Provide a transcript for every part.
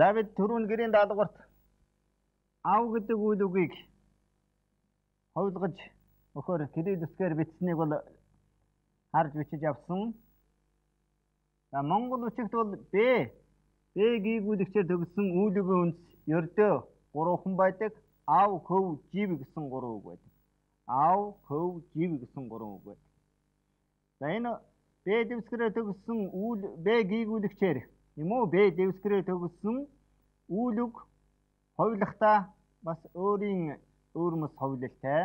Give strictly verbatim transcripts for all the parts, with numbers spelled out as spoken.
За бид түрүүн гэрийн даалгаварт ав гэдэг үйл үгийг ховлгож өхөр кириллискээр бичсэнийг бол харж бичиж авсан. За Монгол үгт бол Б Б гийгүүлэгчээр төгссөн үйл үгийн үндэс ердөө гурван байдаг. Ав, хөв, жив гэсэн гурван үг байдаг. Ав, хөв, жив гэсэн гурван үг байдаг. За энэ Б дэвсгэрээр төгссөн үйл Б гийгүүлэгчээр юм уу Б дэвсгэрээр төгссөн үйл үг ховлохдоо бас өөрийн өөрмөс ховлолтой.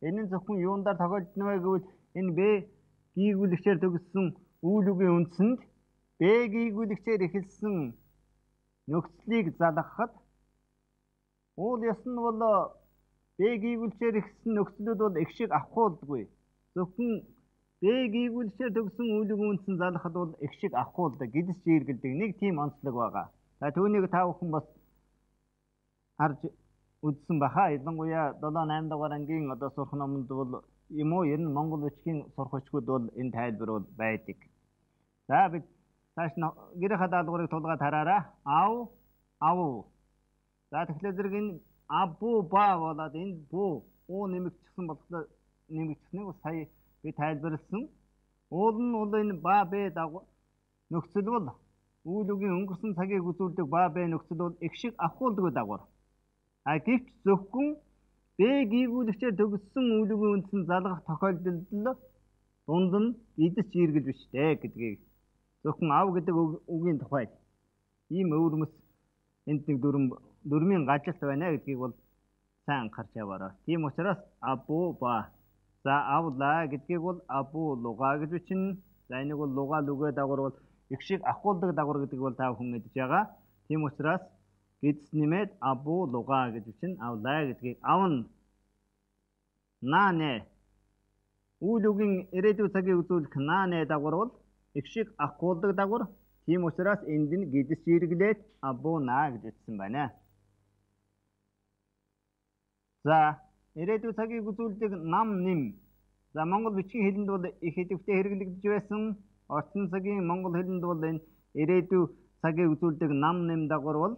Энэ нь зөвхөн юундаар тохиолдно вэ гэвэл энэ Б гийгүүлэгчээр төгссөн үйл үгийн үндсэнд Б гийгүүлэгчээр эхэлсэн нөхцөлийг залгахад уул ёс нь бол Б гийгүүлэгчээр эхэлсэн нөхцөлүүд бол их шиг авахулдаггүй. Зөвхөн Б гийгүүлэгчээр төгссөн үйл үгийн үндсэн залгахад бол их шиг авахулдаг, гидс жиргэлдэг нэг тийм онцлог байгаа. За түүнийг та бүхэн бас харж үзсэн баха. Ялангуяа долоо найм дугаар ангийн одоо сурах номонд бол юм уу ер нь Монгол бичгийн сурах хүчгүүд бол энэ тайлбар бол байдаг. За бид цааш нь гэрийнхаа даалгаврыг тулгаад хараарай. Ав, ав. За тэгэхээр зэрэг энэ абу ба болоод энэ бу уу нэмэгдсэн болохоор нэмэгдсэнийг бас сая би тайлбарласан. Уул нь бол энэ ба б дагуу нөхцөл бол үйл үгийн өнгөрсөн цагийг үзүүлдэг ба б нөхцөл бол их шиг авахулдаг дагавар. А гэвч зөвхөн Б гийгүүлэгчээр төгссөн үйл үгийн үндсэн залгах тохиолдолд дунд нь гидс жиргэл биш дээ гэдгийг зөвхөн ав гэдэг үгийн тухай ийм өвөрмөс энд нэг дүрм дүрмийн гажилт байна гэдгийг бол сайн анхаарч яваарай. Тийм учраас абу ба за авла гэдгийг бол абу луга гэж бичнэ. За энийг бол луга лүгэ дагавар бол их шиг авахулдаг дагавар гэдэг бол та бүхэн мэдж байгаа. Тийм учраас гидс нэмээд абу луга гэж бичнэ. Авла гэдгийг авна. Наане үйл үгийн ирээдүйн цагийг үзүүлэх наане дагавар бол их шиг авахулдаг дагавар. Тийм учраас энд нь гидс жиргэлээд абу на гэж бичсэн байна. За ирээдүйн цагийг үзүүлдэг нам нэм. За Монгол бичгийн хэлэнд бол их идэвхтэй хэрэглэгдэж байсан. Орчин цагийн Монгол хэлэнд бол энэ ирээдүйн цагийг үзүүлдэг нам нэм дагавар бол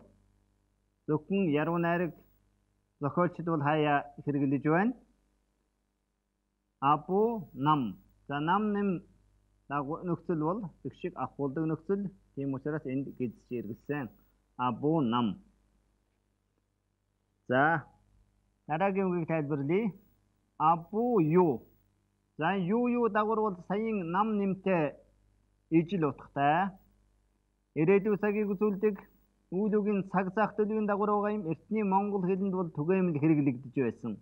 зөвхөн яруу найраг зохиолчд бол хаяа хэрэглэж байна. Абу нам. За нам нэм нөхцөл бол их шиг авахулдаг нөхцөл. Тийм учраас энд гидс жиргэлсэн. Абу нам. За дараагийн үгийг тайлбарлая. Абу ю. За ю ю дагавар бол саяын нам нэмтэй ижил утгатай. Ирээдүйн цагийг үзүүлдэг үйл үгийн цаг зах төлөвийн дагавар байгаа юм. Эртний Монгол хэлэнд бол түгээмэл хэрэглэгдэж байсан.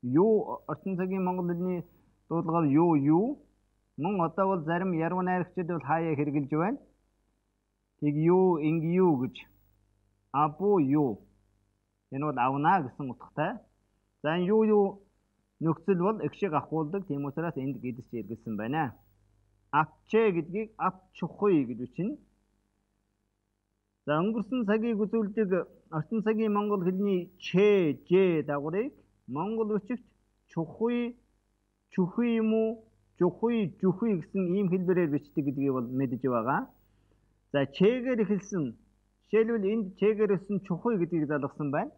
Ю орчин цагийн Монгол хэлний дуудлагаар ю ю. Мөн одоо бол зарим яруу найрагчид бол хаяа хэрэглэж байна. Тэг ю инг ю гэж. Абу ю. Энэ бол авна гэсэн утгатай. За энэ ю ю нөхцөл бол их шиг авахулдаг. Тийм учраас энд гидс жиргэлсэн байна. Авчэ гэдгийг авчухуй гэж бичнэ. За өнгөрсөн цагийг үзүүлдэг орчин цагийн Монгол хэлний ч, ж дагаврыг Монгол бичигт чухуй, чухуй юм уу, чухуй, жухуй гэсэн ийм хэлбэрээр бичдэг гэдгийг бол мэдэж байгаа. За чэгээр эхэлсэн. Жишээлбэл энд чэгээр эхэлсэн чухуй гэдгийг залгасан байна.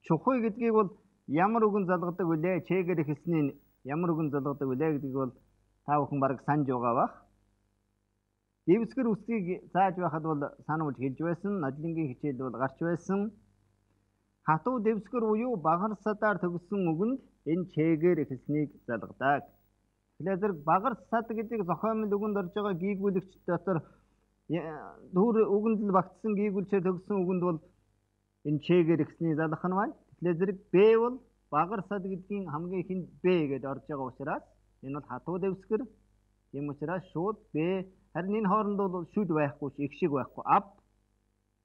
Чухуй гэдгийг бол ямар үгэн залгадаг вүлээ? Чэгээр эхэлсний ямар үгэн залгадаг вүлээ гэдгийг бол та бүхэн бараг санаж байгаа бах. Дэвсгэр үсгийг зааж байхад бол сануулж хэлж байсан. Нодлонгийн хичээлд бол гарч байсан. Хатуу дэвсгэр буюу багар садаар төгссөн үгэнд энэ чэгээр эхэлснийг залгадаг. Тэгэхээр зэрэг багар сад гэдэг зохиомжтой үгэнд орж байгаа гийгүүлэгч дотор дүүр үгэнд л багтсан гийгүүлчээр төгссөн үгэнд бол энэ чэгээр эхэлсний залгах нь байна. Тэгэхээр зэрэг Б бол багар сад гэдгийн хамгийн ихэнд Б гэдээ орж байгаа учраас энэ бол хатуу дэвсгэр. Тийм учраас шууд Б. Харин энэ хооронд бол шүд байхгүй, их шиг байхгүй. Ав,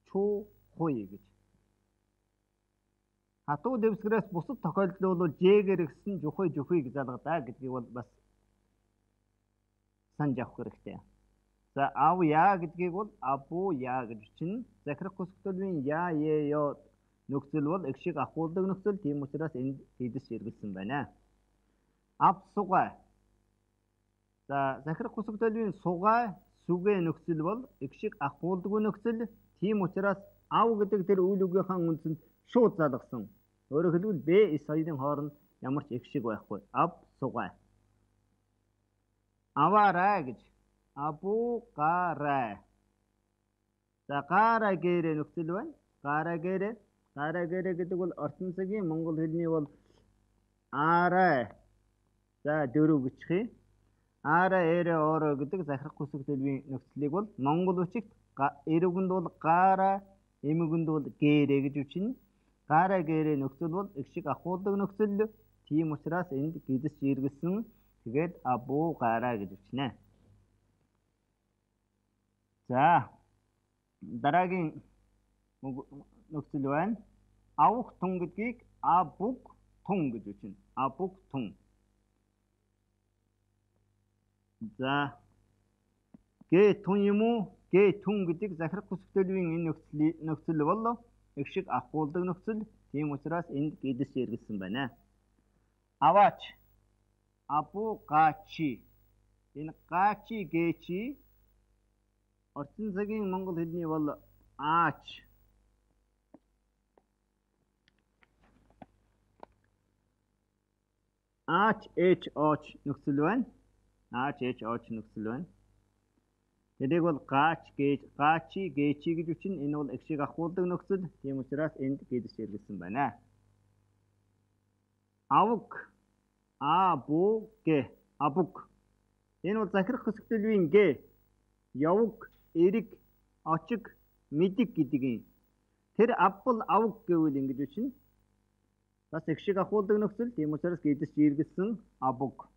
чу, хуй гэж. Хатуу дэвсгэрээс бусад тохиолдол бол жэгээр ихсэн жухуй жухуй гэж залгадаа гэдгийг бол бас санаж авах хэрэгтэй. За ав я гэдгийг бол абу я гэж чинь захирах хүсэлтийн я её нөхцөл бол их шиг авахулдаг нөхцөл. Тийм учраас энд гидс жиргэлсэн байна. Ав сугай. За захирах хүсэлтийн сугай сүгэ нөхцөл бол их шиг авахулдаг нөхцөл. Тийм учраас ав гэдэг тэр үйл үгийнхаа үндсэнд шууд залгасан. Өөрөөр хэлбэл Б эс хоёрын хооронд ямар ч их шиг байхгүй. Ав сугай. Аваарай гэж. Абу гарай. За гараа гэрэ нөхцөл байна. Гараа гэрэ. Гараа гэрэ гэдэг бол орчин цагийн монгол хэлний бол арай. За дөрөв гिचхий. Арай эрэ ороо гэдэг захирах хүсэг төлөвийн нөхцөлийг бол монгол үгчигт эрүүгэнд бол гараа, эмүүгэнд бол гэрэ гэж үчинэ. Гараа гэрэ нөхцөл бол их шиг ахуулдаг нөхцөл. Тийм учраас энд гидс жиргэлсэн. Тэгээд абу гараа гэж үчнэ. За дараагийн нөхцөл байна. Авах тун гэдгийг абуг тун гэж үчнэ. Абуг тун. За гэ тун юм уу? Гэ тун гэдэг захирах хүсэг төлөвийн энэ нөхцөл нөхцөл бол их шиг ахуулдаг нөхцөл. Тийм учраас энд гидс жиргэлсэн байна. Аваач. Абу гачи. Энэ гачи гэчи орчин цагийн монгол хэлний бол аач. Аач эч оч нөхцөл байна. Аач эч оч нөхцөл байна. Тэрийг бол гач гэж гачи гэчи гэж үчинэ. Энэ бол их шиг ахуулдаг нөхцөл. Тийм учраас энд гидс жиргэлсэн байна. Авг абу гэ абуг. Энэ бол захирах хүсэг төлөвийн гэ явг эрэг очиг мэдэг гэдгийг. Тэр авбал авг гэвэл ингэж үчинэ. Бас их шиг ахуулдаг нөхцөл. Тийм учраас гидс жиргэлсэн абуг.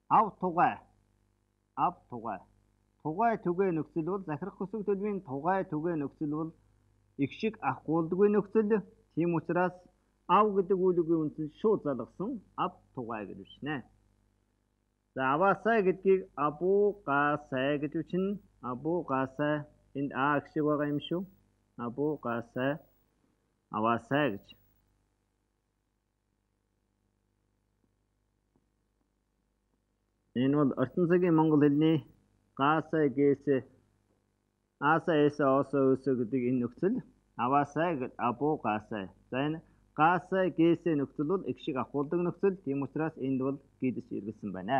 Ав тугай. Ав тугай. Тугай түгэ нөхцөл бол захирах хүсэг төлөвийн тугай түгэ нөхцөл бол их шиг ахуулдаггүй нөхцөл. Тийм учраас ав гэдэг үйл үгийн үндсэнд шууд залгасан ав тугай гэж үчнэ. За аваасай гэдгийг абу гасай гэж үчнэ. Абу гасай энд а гэх шиг байгаа юм шүү. Абу гасай аваасай гэж. Энэ бол орчин цагийн монгол хэлний гасай гэсэ асай эсэ осо өсө гэдэг энэ нөхцөл. Аваасай гэж абу гасай. За энэ гасай гэсэ нөхцөл бол их шиг ахуулдаг нөхцөл. Тийм учраас энд бол гидс жиргэлсэн байна.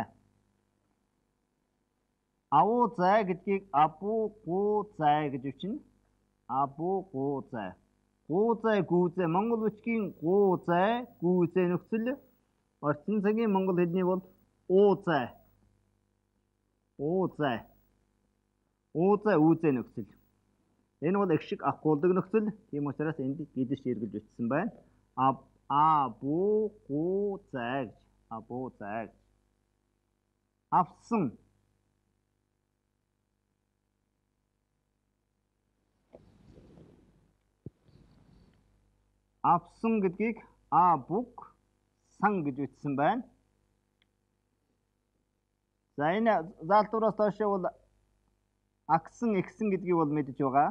Авуу зай гэдгийг абу гу зай гэж үчинэ. Абу гу зай. Гу зай гу зай монгол үгчгийн гу зай гу зай нөхцөл. Орчин цагийн монгол хэлний бол уу зай. Уу зай. Уу зай үү зай нөхцөл. Энэ бол их шиг ахуулдаг нөхцөл. Тийм учраас энд гидс жиргэлж үтсэн байна. Аб абу гу зай. Абу зай. Авсан. Авсан гэдгийг абуг сан гэж үтсэн байна. За энэ заалтуураас доош бол агсан ихсэн гэдгийг бол мэдж байгаа.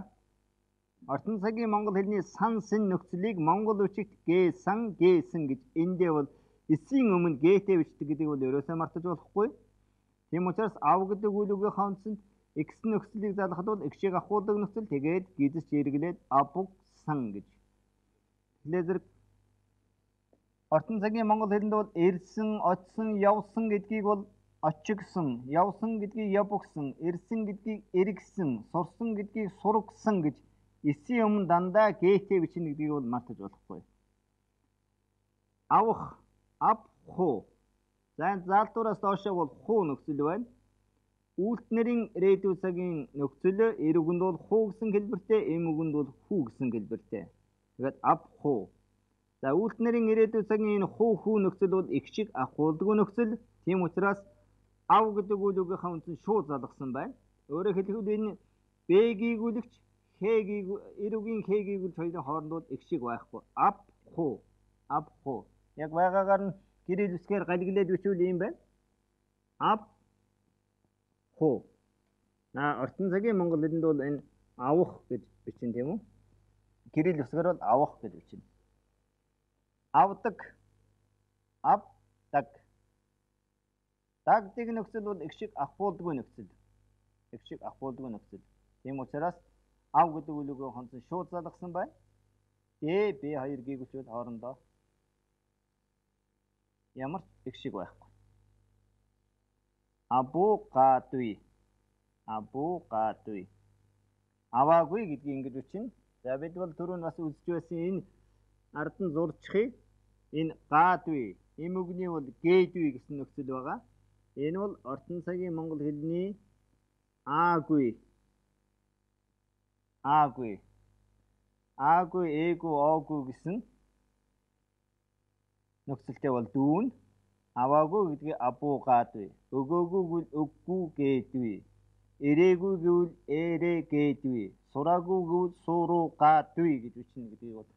Орчин цагийн монгол хэлний сан син нөхцөлийг монгол үгчигт гэ сан гээсэн гэж эндээ бол эсийн өмнө гээтэй бичдэг гэдгийг бол ерөөсөө мартаж болохгүй. Тийм учраас ав гэдэг үйл үгийнхаа үндсэнд x нөхцөлийг залгахад бол x-ийг ахуулдаг нөхцөл. Тэгээд гидс жиргэлээд абуг сан гэж. Тэгэхээр зэрэг орчин цагийн монгол хэлэнд бол ирсэн, очсон, явсан гэдгийг бол очигсон, явсан гэдгийг явбгсан, ирсэн гэдгийг эргсэн, сурсан гэдгийг сургасан гэж эсийн өмнө дандаа гээтэй бичнэ гэдгийг бол мартаж болохгүй. Авах, ав, хуу. За заалтуураас доош бол хуу нөхцөл байна. Үйлдэлнэрийн ирээдүйн цагийн нөхцөл эрүүгэнд бол хуу гэсэн хэлбэртэй, эмүүгэнд бол хүү гэсэн хэлбэртэй. Тэгээд ав, хуу. За үйлдэлнэрийн ирээдүйн цагийн энэ хуу хүү нөхцөл бол их шиг ахуулдаггүй нөхцөл. Тийм учраас ав гэдэг үйл үгийнхаа үндсэнд шууд залгасан байна. Өөрөөр хэлбэл энэ Б-ийг үлэгч Х-ийг эрүүгийн Х-ийг үлж хоёрын хооронд бол их шиг байхгүй. Ав, хуу. Ав, хуу. Яг байгаагаар нь гэрэл үсгээр галглээд бичвэл юм байна. Ав, хуу. На орчин цагийн монгол хэлэнд бол энэ авах гэж бичнэ тийм үү? Гэрэл үсгээр бол авах гэж бичнэ. Авдаг, авдаг. Дагдаг нөхцөл бол их шиг ахуулдаггүй нөхцөл. Их шиг ахуулдаггүй нөхцөл. Тийм учраас ав гэдэг үлгөө хонцон шууд залгасан байна. Д, Б хоёр гүйгүүлчүүд хоорондоо ямар ч их шиг байхгүй. Авокадо. Авокадо. Аваагүй гэдгийг ингэж үчинэ. За бид бол түрүүн бас үзэж байсан энэ ард нь зурчихъя. Энэ гадгүй. Эм үгний бол гээдгүй гэсэн нөхцөл байгаа. Энэ бол орчин цагийн монгол хэлний аагүй. Аагүй. Аагүй, ээгүй, оогүй гэсэн нөхцөлтэй бол дүүн. Аваагүй гэдгийг авокадо. Өгөөгүй гэвэл өггүй гээдгүй. Ирээгүй гэвэл эрээ гээдгүй. Сураагүй гэвэл суруугадгүй гэж үчнэ гэдгийг бол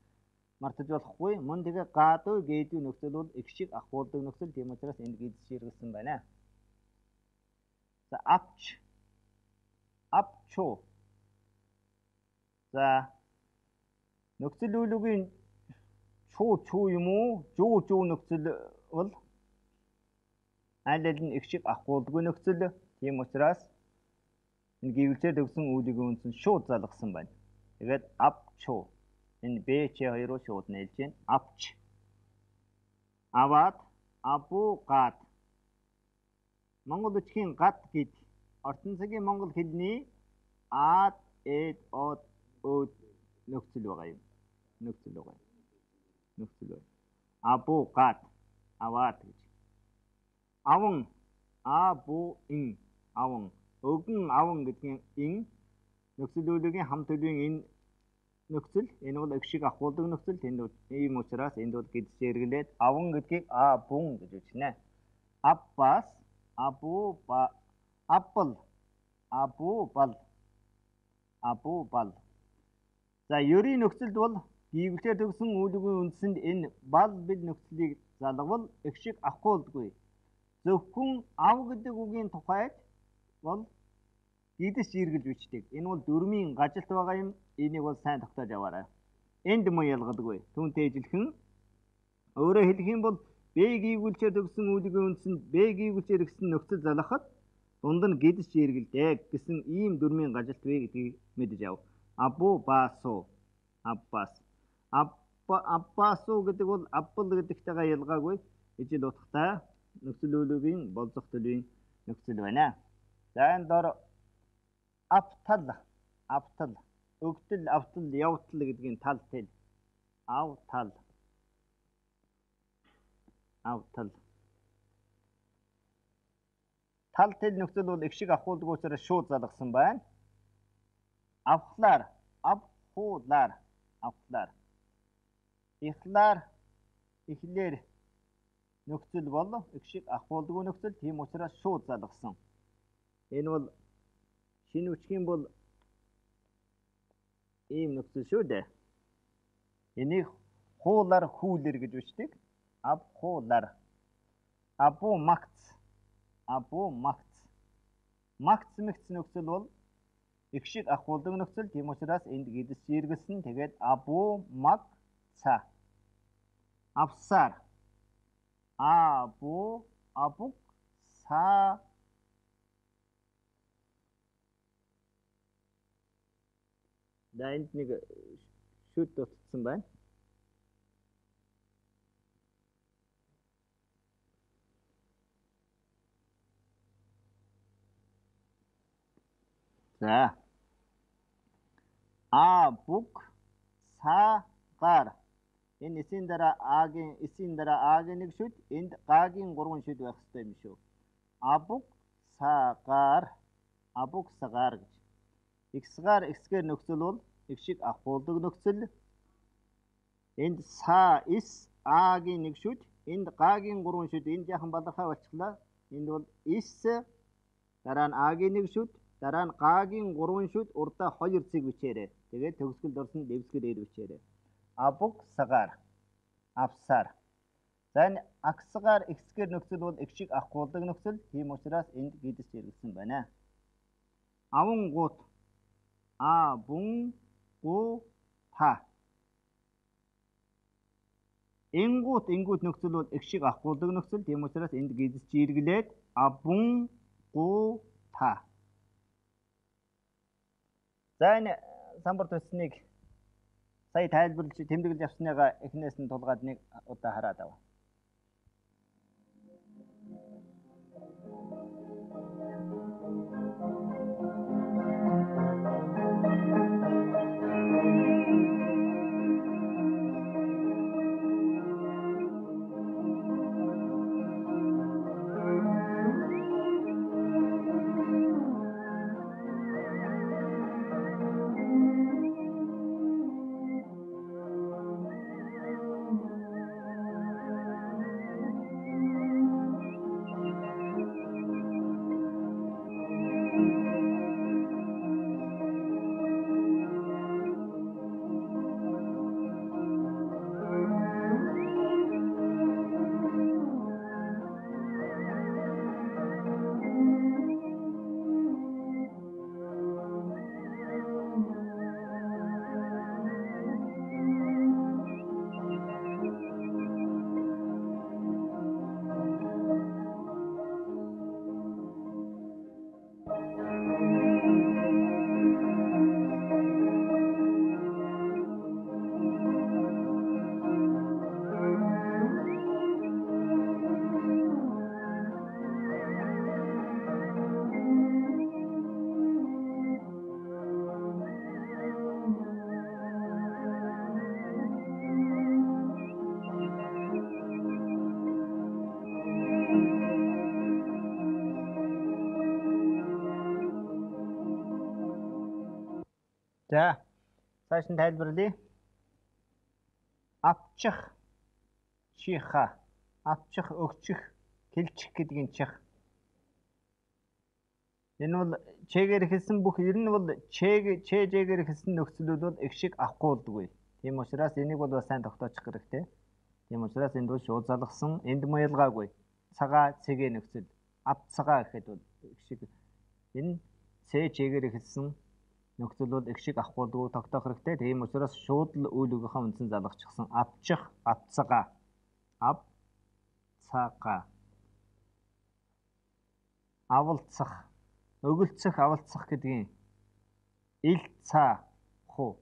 мартаж болохгүй. Мөн тэгээ гадгүй гээдгүй нөхцөл бол их шиг ахуулдаг нөхцөл. Тийм учраас энд гидс ширгэсэн байна. За авч. Авчо. За нөхцөл үйлүүгийн чуу чуу юм уу? Жуу жуу нөхцөл бол аль аль нь их шиг ахуулдаггүй нөхцөл. Тийм учраас энэ гівлчээр төгсөн үүлийг үнсэн шууд залгасан байна. Тэгээд авчо. Энэ Б Ч хоёроо шууд нээлж байна. Авч. Аваад, авокад. Монгол үгхийн гад гэд орчин цагийн монгол хэлний аад, эд, од, өд нөхцөл байгаа юм. Нөхцөл байгаа. Нөхцөл байна. Авокад. Аваад гэж. Аван, абу, ин, аван. Өгөн, аван гэдгийн ин нөхцөл үйлгийн хам төлөвийн энэ нөхцөл. Энэ бол их шиг ахуулдаг нөхцөл. Тэнд ийм учраас энд бол гидс зэрэглээд аван гэдгийг абун гэж үзнэ. Аббас, абу, ба, аппл, абу, бал, абу, бал. За ерийн нөхцөлд бол гівлчээр төгсөн үүлгийн үндсэнд энэ бал бил нөхцөлийг залгавал их шиг ахуулдаггүй. Зөвхөн ав гэдэг үгийн тухайд бол гидс зэрэглэж бичдэг. Энэ бол дөрмийн гажилт байгаа юм. Энийг бол сайн тогтоож аваарай. Энд муу ялгадаггүй. Түүнтэй ижилхэн өөрөөр хэлэх юм бол Б гівгүүлчээр төгсөн үүлгийн үндсэнд Б гівгүүлчээр гэсэн нөхцөл залгахад дунд нь гидс зэрэгэлдэг гэсэн ийм дөрмийн гажилт вэ гэдгийг мэдэж ав. Абу басо. Аббас. Абба аббасо гэдэг бол аппл гэдэгтэйгээ ялгаагүй. Ижил утгатай нөхцөл үйлүүгийн болзох төлөвийн нөхцөл байна. За энэ дор автал, автал, өгтөл, автал, явтал гэдгийн тал тэл. Автал. Автал. Тал тэл нөхцөл бол их шиг ахуулдаг учраас шууд залгасан байна. Авхлаар, авхуулаар, авхлаар. Ихлаар, ихлээр нөхцөл бол их шиг ахуулдаг нөхцөл. Тийм учраас шууд залгасан. Энэ бол шинэ үчгийн бол ийм нөхцөл шүү дээ. Энийг хуулаар хүүлэр гэж үчдэг. Абхуулаар. Абу макц. Абу макц. Макц мэгц нөхцөл бол их шиг ахуулдаг нөхцөл. Тийм учраас энд гидс зэрэглэсэн. Тэгээд абу макца. Авсаар. Абу абук са. За энд нэг шүд дутсан байна. За. А бук сагаар. Энэ эсийн дараа агийн эсийн дараа агийн нэг шүд, энд гагийн гурван шүд байх ёстой юм шүү. Абук сагаар. Абук сагаар гэж. X-гаар X-гээр нөхцөл бол их шиг ахуулдаг нөхцөл. Энд са ис агийн нэг шүд, энд гагийн гурван шүд, энд яхан балархай болчихлоо. Энд бол ис дараа нь агийн нэг шүд, дараа нь гагийн гурван шүд, урдаа хоёр цэг бичээрэй. Тэгээд төгсгөлд орсон дэвсгэр ээр бичээрэй. Абук сагаар. Авсаар. За энэ аксгаар X-гээр нөхцөл бол их шиг ахуулдаг нөхцөл. Тийм учраас энд гидс зэрэглэсэн байна. Аван гут. А бун гу та. Ингут ингут нөхцөл бол их шиг ахуулдаг нөхцөл. Тийм учраас энд гидс зэрэглээд абун гу та. За энэ самбарт өснгийг сая тайлбарлаж тэмдэглэж авсныгаа эхнээс нь тулгаад нэг удаа хараад ав. За, цааш нь тайлбарлая. Авчих, чиха, авчих, өгчих, хэлчих гэдгийн чих. Энэ бол чэгээр хэлсэн бүх ер нь бол чэг чэжэгээр хэлсэн нөхцөлүүд бол их шиг авахгүй болдгүй. Тийм учраас энийг бол сайн тогтоочих хэрэгтэй. Тийм учраас энд бол шууд залгасан, энд маялгаагүй. Цагаа цэгээ нөхцөл, авцагаа гэхэд бол их шиг энэ цэжэгээр хэлсэн нөхцөл бол их шиг авахгүй болдгүй тогтоох хэрэгтэй. Тийм учраас шууд л үйл өгөхөө үндсэн залгачихсан. Авчих, авцагаа, ав цагаа, авалцах, өгөлцөх, авалцах гэдгийн ил цаа хуу.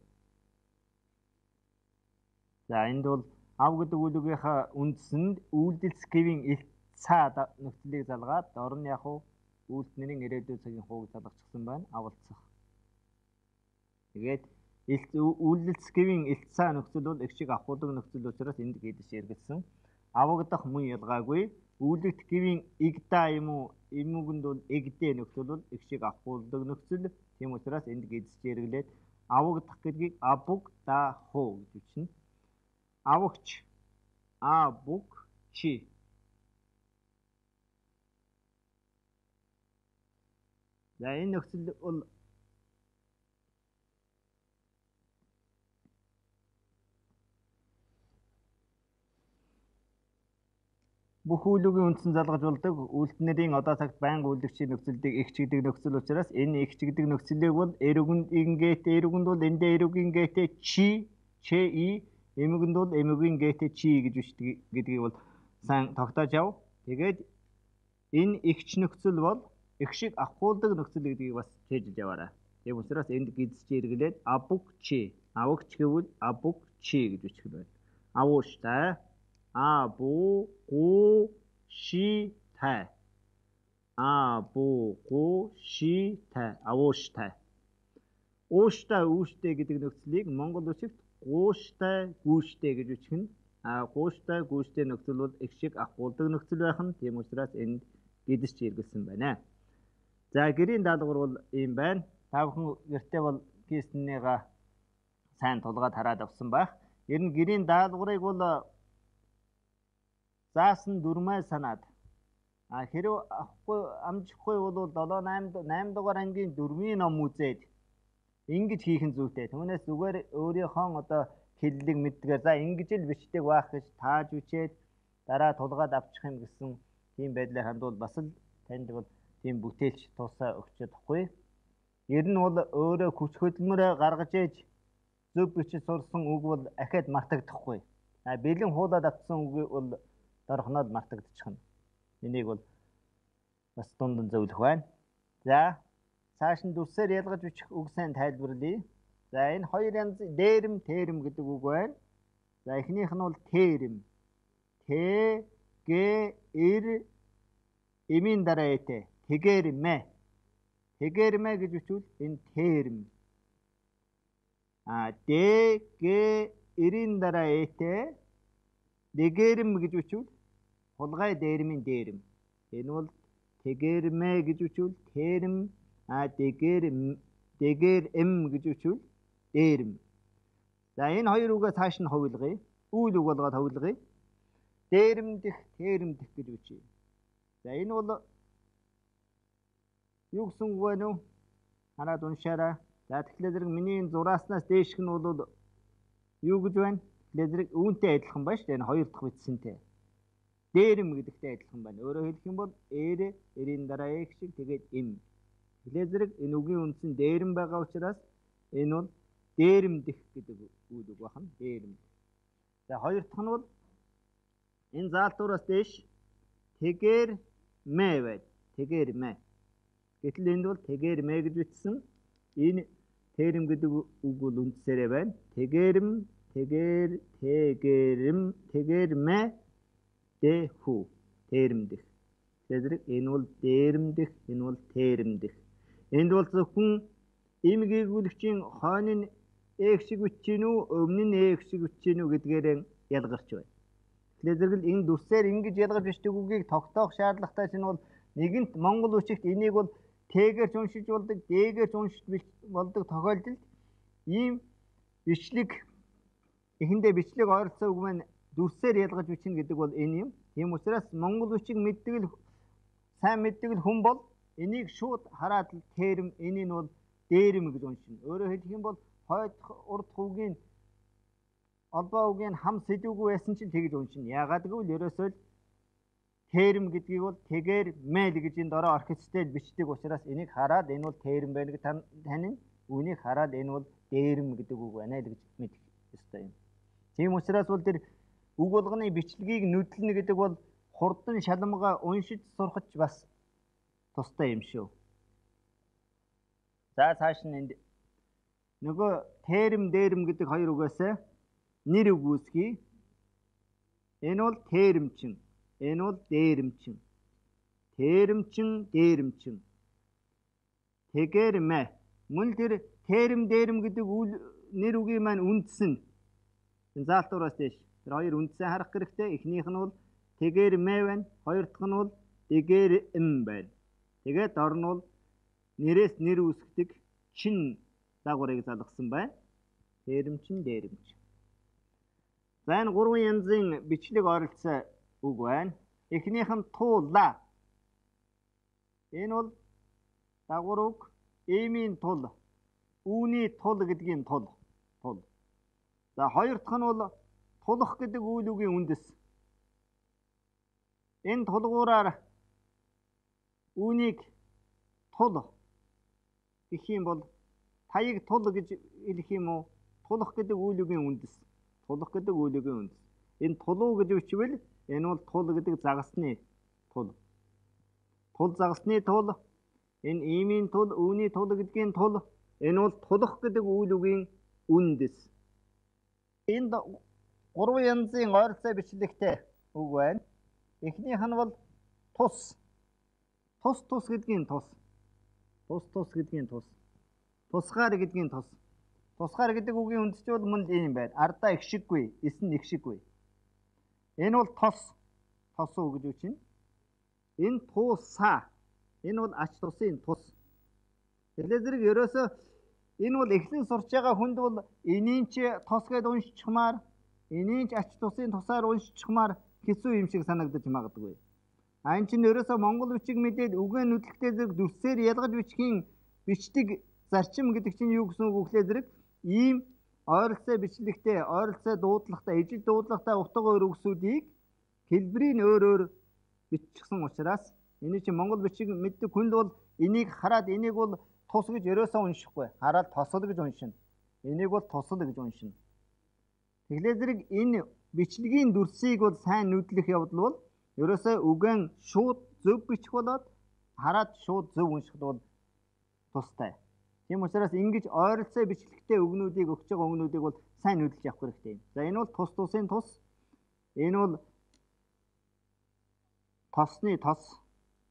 За энд бол ав гэдэг үйл өгөхөө үндсэнд үйлдэлс гэвийн ил цаа нөхцөлийг залгаад дор нь яг уу үйлдэлний ирээдүйн цагийн хууг залгачихсан байна. Авалцах. Тэгээд үйлдэлс гэвийн ил цаа нөхцөл бол их шиг авахгүй нөхцөл учраас энд гэдэж эргэлсэн. Авагдах мөн ялгаагүй. Үйлдэлт гэвийн игда юм уу эмүүгэнд бол эгдээ нөхцөл бол их шиг авахгүй нөхцөл. Тийм учраас энд гэдэж эргэлээд авагдах гэдгийг абуг да хуу гэж үзнэ. Авагч абуг чи. За энэ нөхцөл бол бүх үйлүүгийн үндсэн залгаж болдог үйлдэлнэрийн одоо цагт байнга үйлдэгчийн нөхцөлийг их чигдэг нөхцөл учраас энэ их чигдэг нөхцөлийг бол эрүүгэнд ингээт эрүүгэнд бол эндээ эрүүгийн гээтэй чи чи и эмүүгэнд бол эмүүгийн гээтэй чи гэж бичдэг гэдгийг бол сайн тогтоож ав. Тэгээд энэ ихч нөхцөл бол их шиг авахуулдаг нөхцөл гэдгийг бас хэлж яваарай. Тийм учраас энд гидсч эргэлээд абуг чи авагч гэвэл абуг чи гэж бичих байна. Авууштай абу гу ши тай абу гу ши тай авууштай. Ууштай үүштэй гэдэг нөхцөлийг монгол үгсэд гууштай гүүштэй гэж бичгэн. А гууштай гүүштэй нөхцөл бол их шиг авахуулдаг нөхцөл байх нь. Тийм учраас энд гэдэж хэрэгэлсэн байна. За гэрийн даалгавар бол ийм байна. Та бүхэн гэртээ бол киснийга сайн тулгаад хараад авсан байх. Ер нь гэрийн даалгаврыг бол заасан дөрмөө санаад а хэрв авахгүй амжихгүй бол долоо найм дугаар ангийн дөрвийн ном үзээд ингэж хийх нь зүйтэй. Түүнээс зүгээр өөрийнхөө одоо хэллэг мэддгээр за ингэж л бичдэг байх гэж тааж бичээд дараа тулгаад авчих юм гэсэн тийм байдлаар хандвал бас л танд бол тийм бүтээлч тусаа өгч чадахгүй. Ер нь бол өөрөө хүч хөдөлмөрөө гаргаж ээж зөв бичиж сурсан үг бол ахаад мартагдахгүй. А бэлэн хуулаад авсан үг бол дорхноод мартагдчихна. Энийг бол бас дунд зөвлөх байна. За цааш нь дүрсээр ялгаж бичих үг сайн тайлбарлая. За энэ хоёр янз дээрэм, тээрэм гэдэг үг байна. За эхнийх нь бол тээрэм. Тэ, гэ, эр, эмийн дараа ээтэй. Тэгэрмэ. Тэгэрмэ гэж үчвэл энэ тээрэм. А дэ, гэ, эрийн дараа ээтэй. Дэгэрэм гэж үчвэл хулгай дээрмийн дээрэм. Энэ бол тэгэрмэ гэж үчвэл тээрэм. А дэгэрэм, дэгэрэм гэж үчвэл дээрэм. За энэ хоёр үгээ цааш нь хувилгая. Үйл үг болгоод хувилгая. Дээрэмдэх, тээрэмдэх гэж үчээ. За энэ бол юу гэсэн үг вэ нүү? Хараад уншаарай. За тэгэхээр зэрэг миний энэ зурааснаас дээшх нь бол юу гэж байна? Тэгэхээр зэрэг үүнтэй адилхан байна шүү дээ. Энэ хоёр дахь бичсэнтэй. Дээрэм гэдэгтэй адилхан байна. Өөрөөр хэлэх юм бол эр, эрийн дараа эх шиг тэгээд эм. Тэгэхээр зэрэг энэ үгийн үндсэн дээрэм байгаа учраас энэ бол дээрэмдэх гэдэг үйл үг байна. Дээрэмдэх. За хоёр дахь нь бол энэ заалтуураас дээш тэгэр мэ байд. Тэгэр мэ. Гэтэл энд бол тэгэр мэ гэж бичсэн. Энэ тээрэм гэдэг үг бол үндсээрээ байна. Тэгэрэм, тэгэр, тэгэрэм, тэгэр мэ дэхүү. Тээрэмдэх. Тэгэхээр энэ бол дээрэмдэх, энэ бол тээрэмдэх. Энд бол зөвхөн им гэгүүлэгчийн хойно нь ээх шиг үтчийн үү, өмнө нь ээх шиг үтчийн үү гэдгээр ялгарч байна. Тэгэхээр зэрэг энэ дүрсээр ингэж ялгаж бичдэг үгийг тогтоох шаардлагатай чинь бол нэгэнт монгол үгчигт энийг бол тэгээр уншиж болдог, дээгээр уншиж болдог тохиолдолд ийм бичлэг эхэндээ бичлэг ойролцоо үг маань дүрсээр ялгаж бичнэ гэдэг бол энэ юм. Тийм учраас монгол үгчиг мэддэг л сайн мэддэг л хүн бол энийг шууд хараад тээрэм, энийг бол дээрэм гэж уншина. Өөрөөр хэлэх юм бол хойд урд үгийн албаа үгийн хам сэдвгүй байсан чинь тэгж уншина. Яагаад гэвэл ерөөсөө тээрэм гэдгийг бол тэгэр мэл гэж энэ дороо оркестрээр бичдэг учраас энийг хараад энэ бол тээрэм байна гэж танин. Үүнийг хараад энэ бол дээрэм гэдэг үг байна л гэж мэдэх ёстой юм. Тийм учраас бол тэр үг болгоны бичлэгийг нүдлэнэ гэдэг бол хурдан шалмгаа уншиж сурахч бас тустай юм шүү. За цааш нь энд нөгөө тээрэм, дээрэм гэдэг хоёр үгээс нэр үг үүсгэе. Энэ бол тээрэмчин. Энэ бол дээрэмчин. Тээрэмчин, дээрэмчин. Тэгэрмэ. Мөн тэр тээрэм, дээрэм гэдэг нэр үгийн маань үндсэн. Энэ заалтуураас дээш. Тэр хоёр үндсээ харах хэрэгтэй. Эхнийх нь бол тэгэрмэ байна. Хоёр дахь нь бол дэгэрэм байна. Тэгээд дор нь бол нэрээс нэр үүсгдэг чин дагаврыг залгасан байна. Тээрэмчин, дээрэмчин. За энэ гурван янзын бичлэг ойролцоо үг байна. Эхнийх нь туула. Энэ бол дагвар үг. Эмийн тул. Үүний тул гэдгийн тул. Тул. За хоёр дахь нь бол тулах гэдэг үйл үгийн үндэс. Энэ тулгуураар үүнийг тул гэх юм бол таяг тул гэж хэлэх юм уу? Тулах гэдэг үйл үгийн үндэс. Тулах гэдэг үйл үгийн үндэс. Энэ тулуу гэж үчвэл энэ бол тул гэдэг загасны тул. Тул загасны тул. Энэ иймийн тул, үүний тул гэдгийн тул. Энэ бол тулах гэдэг үйл үгийн үндэс. Энд гурван янзын ойролцоо бичлэгтэй үг байна. Эхнийх нь бол тус. Тус тус гэдгийн тус. Тус тус гэдгийн тус. Тусгаар гэдгийн тус. Тусгаар гэдэг үгийн үндэс бол мөн ийм байна. Ардаа их шиггүй, эсн их шиггүй. Энэ бол тос. Тос уу гэж үчинэ. Энэ туусаа. Энэ бол ач тусын тус. Тэгэхээр зэрэг ерөөсөө энэ бол эхлэн сурч байгаа хүнд бол энийн ч тос гэдээ уншчихмаар, энийн ч ач тусын тусаар уншчихмаар хэцүү юм шиг санагдаж магадгүй. А энэ чинь ерөөсөө монгол бичиг мэдээд үгээ нүдлэгтэй зэрэг дүрсээр ялгаж бичгийн бичдэг зарчим гэдэг чинь юу гэсэн үг вэ зэрэг ийм ойролцоо бичлэгтэй, ойролцоо дуудлагатай, ижил дуудлагатай утга өөр үгсүүдийг хэлбэрийн өөр өөр биччихсэн учраас энэ чинь монгол бичиг мэддэг хүнд бол энийг хараад энийг бол тус гэж ерөөсөө уншихгүй. Хараад тосол гэж уншина. Энийг бол тусал гэж уншина. Тэгэхээр зэрэг энэ бичлэгийн дүрсийг бол сайн нүдлэх явдал бол ерөөсөө үгэн шууд зөв бичих болоод хараад шууд зөв уншихд бол тустай. Тийм учраас ингэж ойролцоо бичлэгтэй үгнүүдийг өгч байгаа үгнүүдийг бол сайн хөдөлж авах хэрэгтэй. За энэ бол тус тусын тус. Энэ бол тосны тос,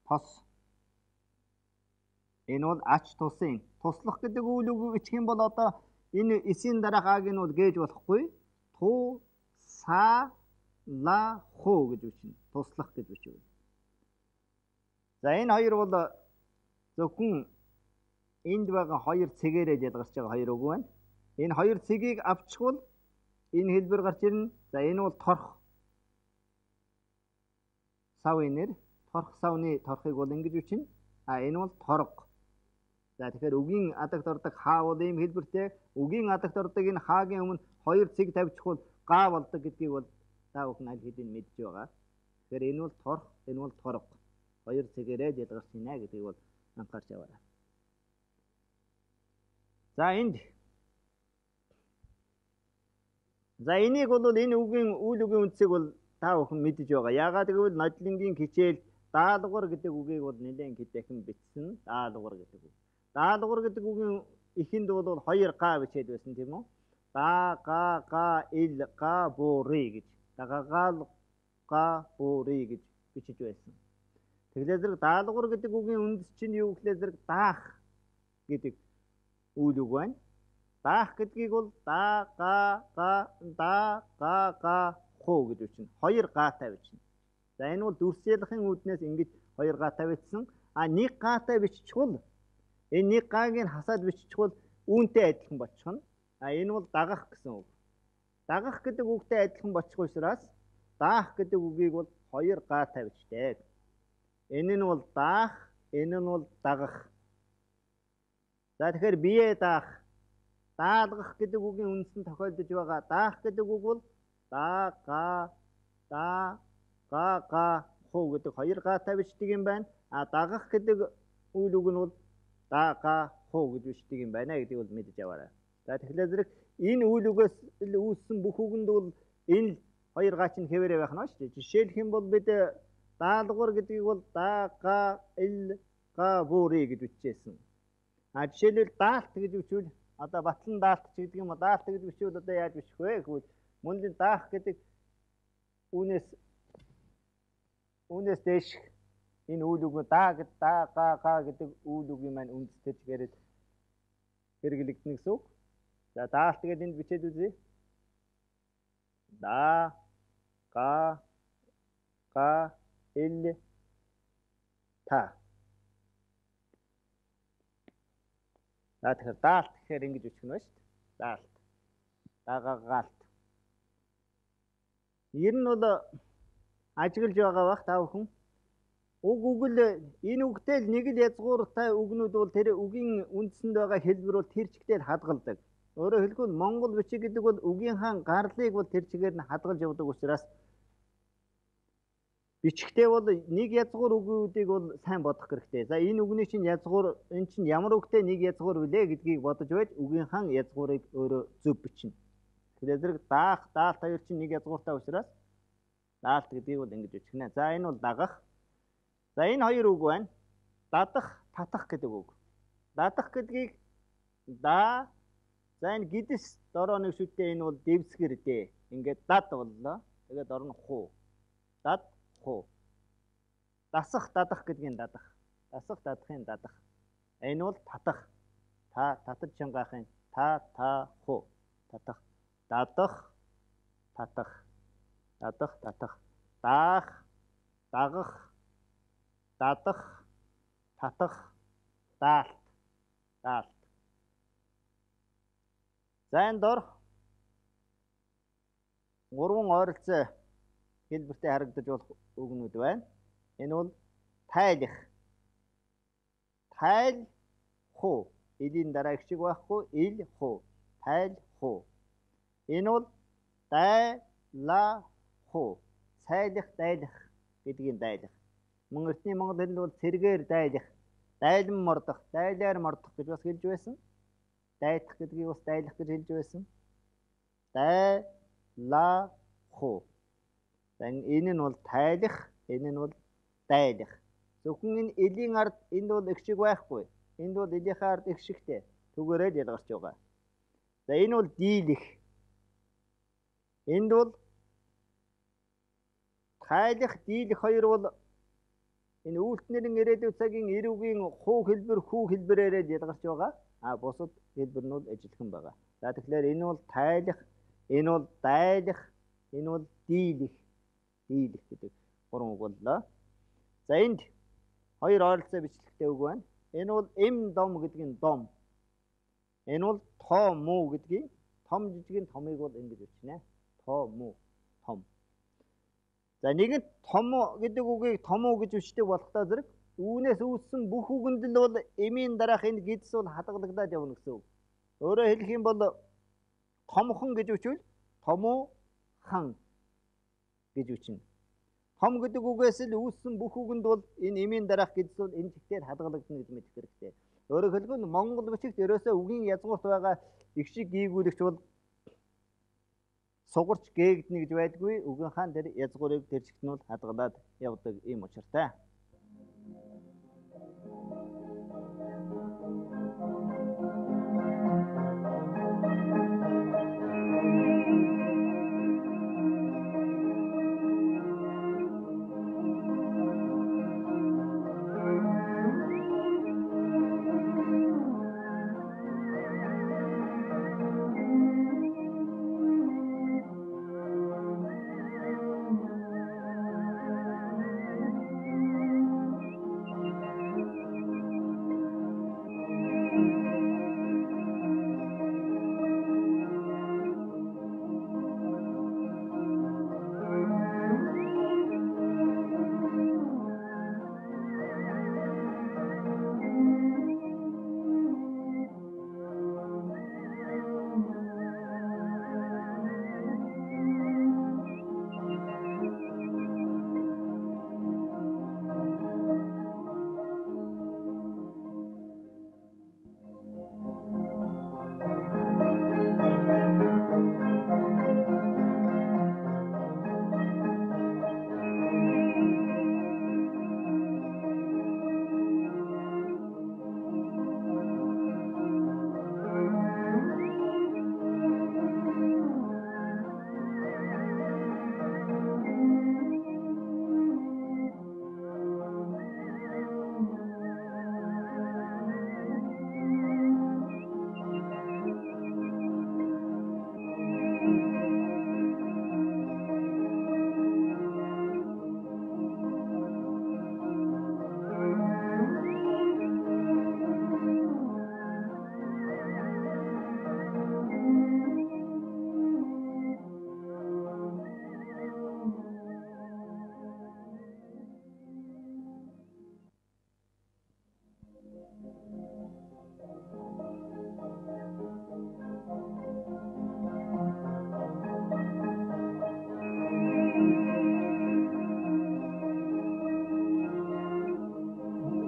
тос. Энэ бол ач тусын. Туслах гэдэг үйл үг ичих юм бол одоо энэ эсийн дараах аг нь бол гээж болохгүй. Ту, са, ла, ху гэж бичнэ. Туслах гэж бичвэл. За энэ хоёр бол зөвхөн энд байгаа хоёр цэгээрээ ялгарч байгаа хоёр үг байна. Энэ хоёр цэгийг авчихвал энэ хэлбэр гарч ирнэ. За энэ бол торх. Савын нэр. Торх савны торхыг бол ингэж бичнэ. А энэ бол торго. За тэгэхээр үгийн адагт ордог хаа бол ийм хэлбэртэй. Үгийн адагт ордог энэ хаагийн өмнө хоёр цэг тавьчихвал га болдог гэдгийг бол та бүхэн аль хэдийн мэдж байгаа. Тэгэхээр энэ бол торх, энэ бол торго. Хоёр цэгээрээ ялгарч байна гэдгийг бол анхаарч аваарай. За энд За энийг бол энэ үгийн үйл үгийн үндсийг бол та бүхэн мэдж байгаа. Яагаад гэвэл нодлонгийн хичээл даалгавар гэдэг үгийг бол нэлээд дахин бичсэн. Даалгавар гэдэг үг. Даалгавар гэдэг үгийн эхэнд бол хоёр га бичээд байсан тийм үү? Да, га, га, ил, га, бури гэж. Дагагаал, га, бури гэж бичиж байсан. Тэгэхээр зэрэг даалгавар гэдэг үгийн үндэс чинь юу гэхлээр зэрэг даах гэдэг үйл үг байна. Даах гэдгийг бол да, га, га, да, га, га, ху гэж бичнэ. Хоёр гаатай бичнэ. За энэ бол дүрсэлхийн үүднээс ингэж хоёр гаатай бичсэн. А нэг гаатай биччихвэл энэ нэг гааг нь хасаад биччихвэл үүнтэй адилхан болчихно. А энэ бол дагах гэсэн үг. Дагах гэдэг үгтэй адилхан бочих учраас даах гэдэг үгийг бол хоёр гаатай бичдэг. Энэ нь бол даах, энэ нь бол дагах. За тэгэхээр бие даах, даалгах гэдэг үгийн үндсэн тохиолдож байгаа. Даах гэдэг үг бол да, га, да, га, га, ху гэдэг хоёр гаатай бичдэг юм байна. А дагах гэдэг үйл үг нь бол да, га, ху гэж бичдэг юм байна гэдгийг бол мэдэж аваарай. За тэгэхээр зэрэг энэ үйл үгээс үүссэн бүх үгэнд бол энэ хоёр гач нь хэвээрээ байх нь шүү дээ. Жишээлх юм бол бид даалгавар гэдгийг бол да, га, ил, га, бури гэж бичижсэн. А жишээлбэл даалт гэж бичвэл одоо батлан даалт ч гэдэг юм уу, даалт гэж бичвэл одоо яаж бичих вэ гэвэл мөн л даах гэдэг үүнээс үүнээс дэш энэ үйл үг да гэд да, га, га гэдэг үйл үгийн маань үндэстэж гэрэл хэрэглэгдэнэ гэсэн үг. За даалт гэдэг энд бичээд үзье. Да, га, га, ил, та. За тэгэхээр даалт гэхээр ингэж үчих нь ба шүү дээ. Даалт. Дагагаалт. Ер нь бол ажиглаж байгаа бах та бүхэн. Уг үгэл энэ үгтэй л нэг л язгууртай үгнүүд бол тэр үгийн үндсэнд байгаа хэлбэр бол тэр чигтээ л хадгалдаг. Өөрөөр хэлбэл Монгол бичиг гэдэг бол үгийн хаан гарлыг бол тэр чигээр нь хадгалж явдаг учраас бичгтээ бол нэг язгуур үгүүдийг бол сайн бодох хэрэгтэй. За энэ үгний чинь язгуур энэ чинь ямар үгтэй нэг язгуур вүлээ гэдгийг бодож байж үгийн хаан язгуурыг өөрөө зөв бичнэ. Тэгэхээр зэрэг даах, даалт хоёр чинь нэг язгууртай учраас даалт гэдгийг бол ингэж бичнэ. За энэ бол дагах. За энэ хоёр үг байна. Дадах, татах гэдэг үг. Дадах гэдгийг да. За энэ гидс дороо нэг шүтээ энэ бол дэвсгэр дээ. Ингээд дад боллоо. Тэгээд орно хуу. Дад, хуу. Дасах, дадах гэдгийг дадах. Дасах, дадахын дадах. Энэ бол татах. Та татаж чангаахын та та хуу. Татах. Дадах, татах. Дадах, татах. Даах, дагах, дадах, татах, даалт. Даалт. За энэ дор гурван ойролцоо хэлбэртэй харагдаж болох үгнүүд байна. Энэ бол тайлах. Тайл хуу. Илийн дараа их шиг байхгүй. Ил хуу. Тайл хуу. Энэ бол дайлах хуу. Цайлах, дайлах гэдгийг дайлах. Мөн эртний монгол хэлэнд бол цэргээр дайлах, дайлан мордох, дайлаар мордох гэж бас хэлж байсан. Дайдах гэдгийг бас дайлах гэж хэлж байсан. Дайлах хуу. Энэ нь бол тайлах, энэ нь бол дайлах. Зөвхөн энэ элийн ард энд бол их шиг байхгүй. Энд бол элийнхээ ард их шигтэй. түгээрээ ялгарч байгаа. За энэ бол дийлэх. Энд бол тайлах, дийлэх хоёр бол энэ үйлдэлнэрийн ирээдүйн цагийн эрүүгийн хуу хэлбэр, хүү хэлбэрээр ялгарч байгаа. А бусад хэлбэрнүүд ажиллахан байгаа. За тэгэхээр энэ бол тайлах, энэ бол дайлах, энэ бол дийлэх. Дийлэх гэдэг гурван үг боллоо. За энд хоёр ойролцоо бичлэгтэй үг байна. Энэ бол эм дом гэдгийн дом. Энэ бол тоо муу гэдгийн том жижигэн томыг бол ингэж бичнэ. Тоо муу том. За нэгэнт том гэдэг үгийг том уу гэж бичдэг болохдоо зэрэг үүнээс үүссэн бүх үгэнд л бол эмийн дараах энэ гидс бол хадгалагдаад явна гэсэн үг. Өөрөөр хэлэх юм бол томхон гэж үчвэл томуу хан гэж үчнэ. Том гэдэг үгээс л үүссэн бүх үгэнд бол энэ эмийн дараах гидс бол энэ чигтээр хадгалагдана гэж мэдэх хэрэгтэй. Өөрөөр хэлбэл Монгол бичигт ерөөсөө үгийн язгуурт байгаа их шиг гийгүүлэгч бол сугарч гээгднэ гэж байдгүй. Үгэн хаан тэр язгуурыг тэр чигт нь бол хадгалаад явдаг ийм учиртай.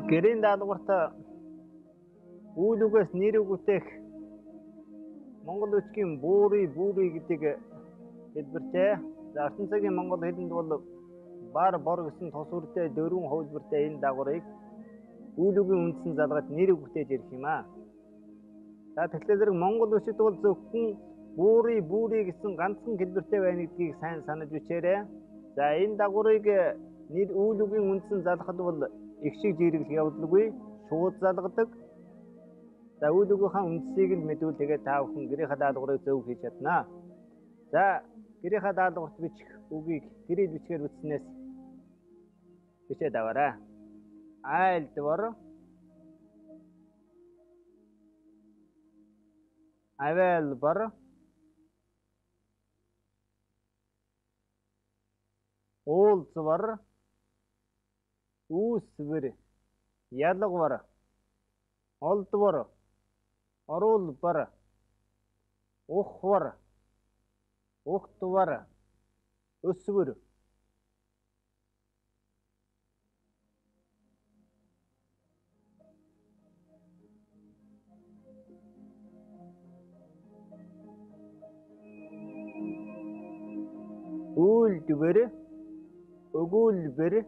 Гэрийн даалгаварт үйл үгээс нэр үгүйтэйх Монгол үгчийн буурий буурий гэдэг хэлбэртэй. За орчин цагийн монгол хэлэнд бол бар бор гэсэн тус үртэй дөрвөн хувилбартай энэ дагаврыг үйл үгийн үндсэн залгаад нэр үгтэйж ирэх юм аа. За тэгэхээр зэрэг монгол үгчид бол зөвхөн буурий буурий гэсэн ганцхан хэлбэртэй байна гэдгийг сайн санаж бичээрэй. За энэ дагаврыг нэр үйл үгийн үндсэн залгахад бол их шиг жирэглэх явдалгүй, шууд залгадаг. За үйл үгийнхаа үндсийг л мэдвэл тэгээд та бүхэн гэрийнхаа даалгаврыг зөв хийж чаднаа. За гэрийнхаа даалгаварт бичих үгийг гэрэл бичгээр бичснээс бичээд аваарай. Айлдвар, авайлбар, уулзвар, үүсвэр, ялгвар, олдвар, оруулбар, ухвар, ухтвар, өсвөр. Үйлдвэр, өгүүлбэр,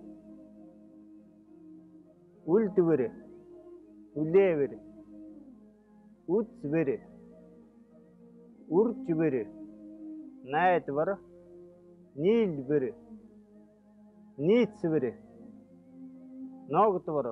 үлдвэр, үлээвэр, үзбэр үржбэр найдвар нийлбэр нийцбэр ногдвар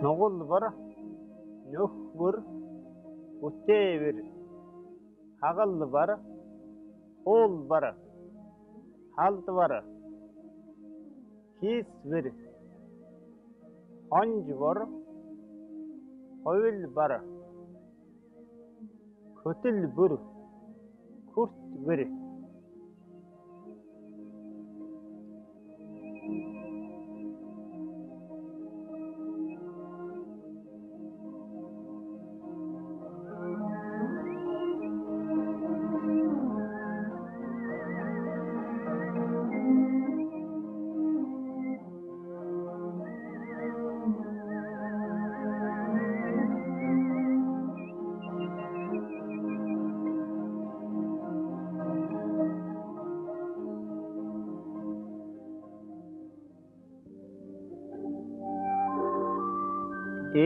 нугулбар нөхбөр бүтээвэр хагалбар уулбар халдвар хийсвэр хонжбор хувилбар хөтөлбөр хүртбэр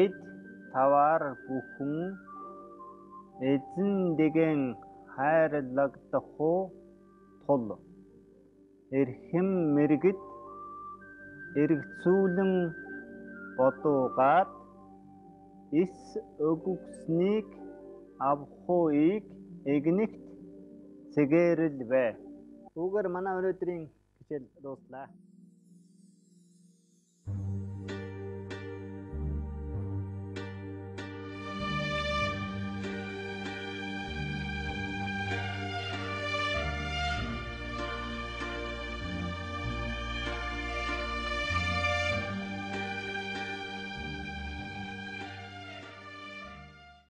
эд таваар бүхэн эзэндэгэн хайрлагдах тул эрхэм мэргэд эргцүүлэн бодуугаад эс өгөгснийг авахыг игнэгт цэгээрл бай. Үүгээр манай өнөөдрийн хичээл дууслаа.